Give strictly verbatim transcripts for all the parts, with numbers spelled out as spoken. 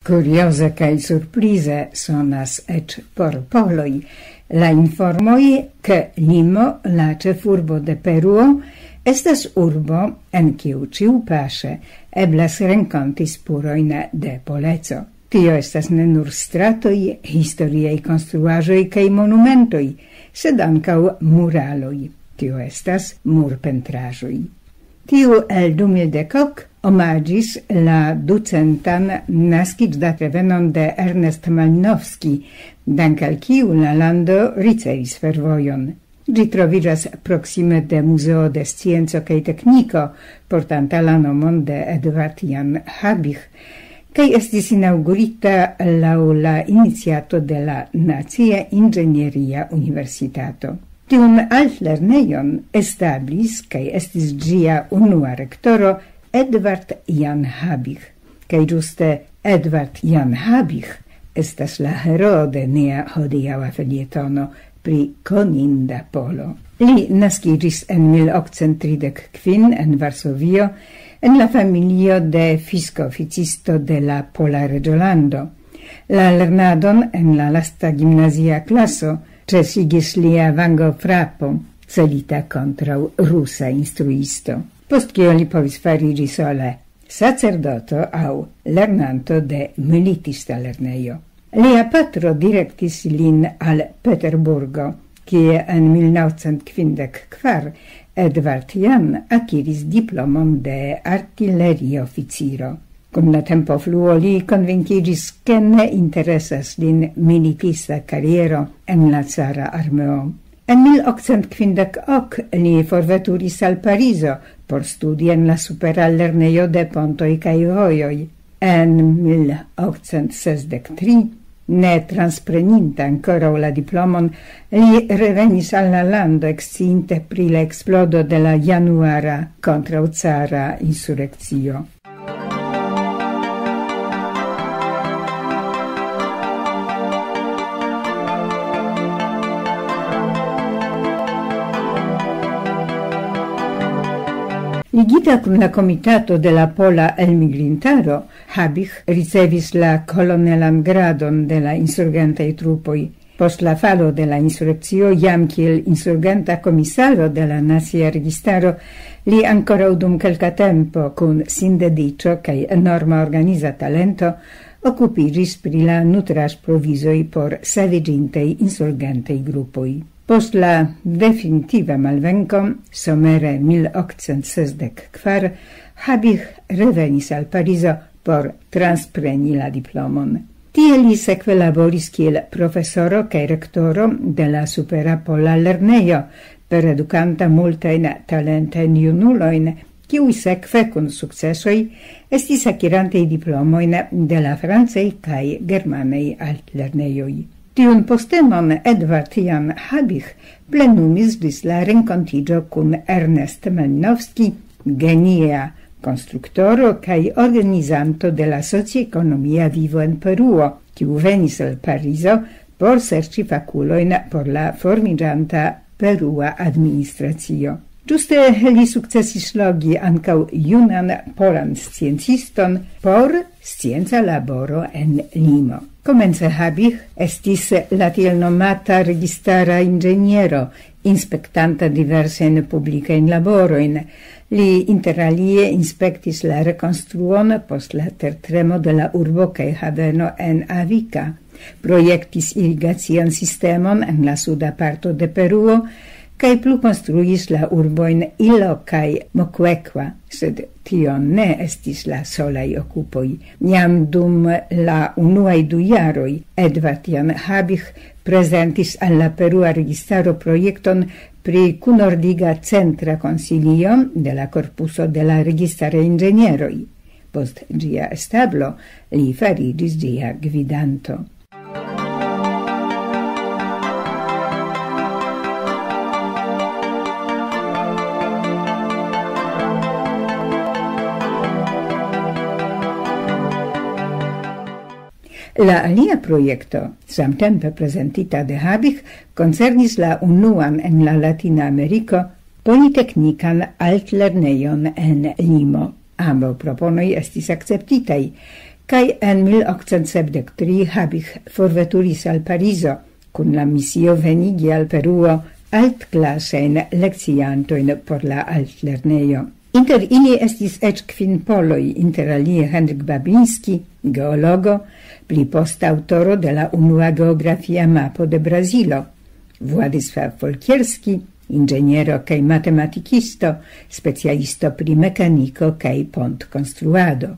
Kurioze kaj surprize sonas eĉ por poloj la informoj, ke Limo, la ĉefurbo de Peruo, estas urbo, en kiu ĉiupaŝe eblas renkonti spurojn de poleco. Tio estas ne nur stratoj, historiaj konstruaĵoj kaj monumentoj, sed ankaŭ muraloj. Tio estas murpentraĵoj. Tiu el du mil dek ok omaĝis la ducentan naskiĝdatrevenon de Ernest Malinowski, dank al kiu la lando ricevis fervojon. Ĝi troviĝas proksime de Muzeo de Scienco kaj Tekniko, portanta la nomon de Edward Jan Habich, kaj estis inaŭgurita laŭ la iniciato de la Nacia Inĝenieria Universitato. Tiun altlernejon establis kaj estis ĝia unua rektoro Edward Jan Habich, kaj ĝuste Edward Jan Habich estas la heroo de nia hodiaŭa felietono pri koninda polo. Li naskiĝis en mil okcent tridek kvin en Varsovio, en la familio de fiskoficisto de la pola reĝolando. La lernadon en la lasta gimnazia klaso ĉesigis lia vangofrapo, celita kontraŭ rusa instruisto, post kio li povis fariĝi sole sacerdoto aŭ lernanto de militista lernejo. Lia patro direktis lin al Peterburgo, kie en mil naŭcent kvindek kvar Edward Jan akiris diplomon de artilerioficiro. Kun la tempofluo li konvinkiĝis, ke ne interesas lin militista kariero en la cara armeo. En mil okcent kvindek ok li forveturis al Parizo por studi en la supera lernejo de pontoj kaj vojoj. En mil okcent sesdek tri, ne transpreninta ankoraŭ la diplomon, li revenis al la lando, eksciinte pri la eksplodo de la januara kontraŭcara insurekcio. Ligita kun la komitato de la pola elmigrintaro, Habich ricevis la kolonelan gradon de la insurgentaj trupoj. Post la falo de la insurekcio, jam kiel insurgenta komisaro de la Nacia Registaro, li ankoraŭ dum kelka tempo kun sindediĉo kaj enorma organiza talento okupiĝis pri la nutraĵprovizoj por saviĝintaj insurgentaj grupoj. Post la definitiva malvenko, somere mil okcent sesdek kvar, Habich revenis al Parizo por transpreni la diplomon. Tie li sekve laboris kiel profesoro kaj rektoro de la Supera Pola Lernejo, per edukanta multajn talentajn junulojn, kiuj sekve kun sukcesoj estis akirantej diplomojn de la francaj kaj germanaj altlernejoj. Tiun postenon Edward Jan Habich plenumis ĝis la renkontiĝo kun Ernest Malinowski, genia konstruktoro kaj organizanto de la sociekonomia vivo en Peruo, kiu venis al Parizo por serĉi fakulojn por la formiĝanta perua administracio. Ĝuste li sukcesis logi ankaŭ junan polan scienciston por scienca laboro en Limo. Komence Habich estis la tiel nomata registara inĝeniero, inspektanta diversajn publikajn laborojn. Li inter alie inspektis la rekonstruon post la tertremo de la urbo kaj haveno en Avika, projektis irigacian sistemon en la suda parto de Peruo, kaj plu konstruis la urbojn Ilo kaj Mocuecua, sed tio ne estis la solaj okupoj. Jam dum la unuaj du jaroj Edward Jan Habich prezentis al la perua registaro projekton pri kunordiga centra konsilio de la korpuso de la registaraj inĝenieroj. Post ĝia establo li fariĝis ĝia gvidanto. La alia projekto, samtempe prezentita de Habich, koncernis la unuan en la Latina Ameriko politeknikan altlernejon en Limo. Ambaŭ proponoj estis akceptitaj, Kaj en mil okcent sepdek tri Habich forveturis al Parizo kun la misio venigi al Peruo altklasajn lekciantojn por la altlernejo. Inter ili estis eĉ kvin poloj, inter alie Henryk Babinski, geologo, pli poste aŭtoro de la unua geografia mapo de Brazilo, Władysław Folkierski, inĝeniero kaj matematikisto, specialisto pri mekaniko kaj pontkonstruado,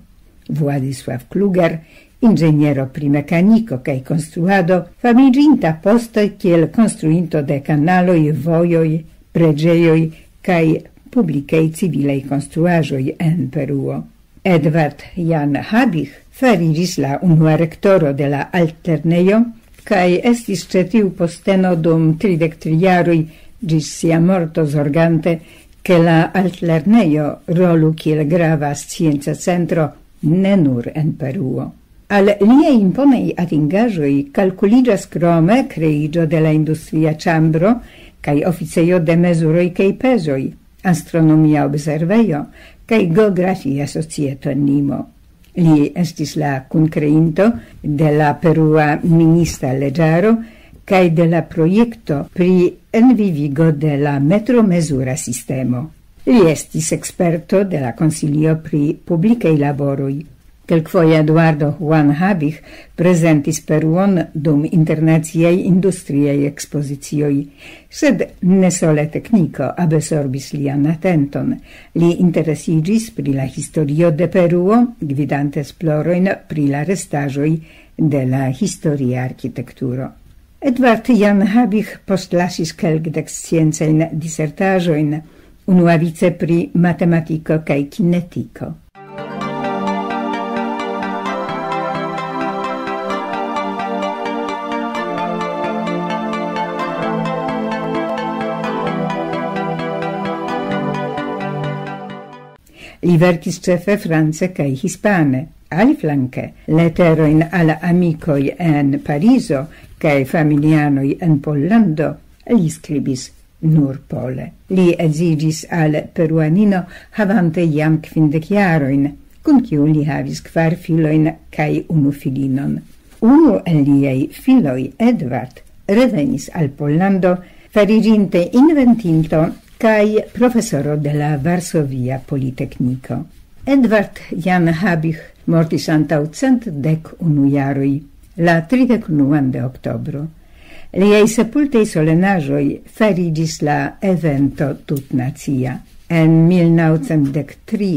Władysław Kluger, inĝeniero pri mekaniko kaj konstruado, famiĝinta poste kiel konstruinto de kanaloj, vojoj, preĝejoj kaj publikaj civilaj konstruaĵoj en Peruo. Edward Jan Habich fariĝis la unua rektoro de la altlernejo, kaj estis ĉe tiu posteno dum tridek tri jaroj ĝis sia morto, zorgante, ke la altlernejo rolu kiel grava scienca centro ne nur en Peruo. Al liaj imponaj atingaĵoj kalkuliĝas krome kreiĝo de la industria ĉambro kaj oficejo de mezuroj kaj pezoj, astronomia observejo kaj geografia societo en Limo. Li estis la kunkreinto de la perua minista leĝaro kaj de la projekto pri envivigo de la metromezura sistemo. Li estis eksperto de la Konsilio pri publikaj laboroj. Kelkfoje Eduardo Juan Habich prezentis Peruon dum internaciaj industriaj ekspozicioj, sed ne sole tekniko absorbis lian atenton. Li interesiĝis pri la historio de Peruo, gvidante esplorojn pri la restaĵoj de la historia arkitekturo. Edward Jan Habich postlasis kelkdek sciencajn disertaĵojn, unuavice pri matematiko kaj kinetiko. Li verkis ĉefe france kaj hispane. Aliflanke, leterojn al amikoj en Parizo kaj familianoj en Pollando li skribis nur pole. Li edziĝis al peruanino havante jam kvindek jarojn, kun kiu li havis kvar filojn kaj unu filinon. Unu el liaj filoj, Edward, revenis al Pollando, fariĝinte inventinto kaj profesoro de la Varsovia Politekniko. Edward Jan Habich mortis antaŭ cent dek unu jaroj, la tridek unuan de oktobro. Liaj sepultaj solenaĵoj fariĝis la evento tutnacia. En mil naŭcent dek tri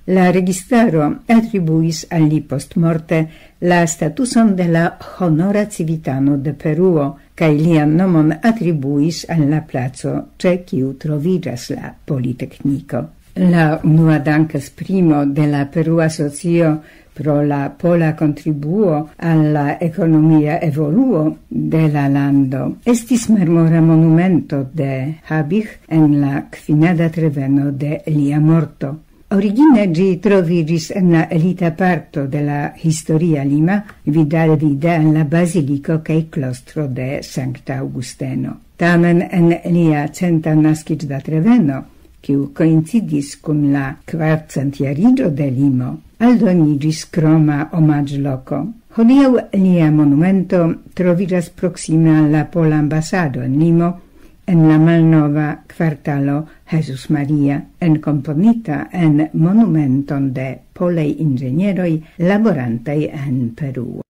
la registaro atribuis al li postmorte la statuson de la honora civitano de Peruo, kaj lian nomon atribuis al la placo, ĉe kiu troviĝas la Politekniko. La unua dankesprimo de la Perua Socio pro la pola kontribuo al la ekonomia evoluo de la lando estis marmora monumento de Habich en la kvinada treveno de lia morto. Origine ĝi troviĝis en la elita parto de la historia Lima, vidalvide en la baziliko kaj klostro de Sankta Aŭgusteno. Tamen en lia centa naskiĝdatreveno, kiu koincidis kun la kvarcentjariĝo de Limo, aldoniĝis kroma omaĝloko. Hodiaŭ lia monumento troviĝas proksime al la pola ambasado en Limo, en la malnova kvartalo Jesus Maria, enkomponita en monumenton de polaj inĝenieroj laborantaj en Peruo.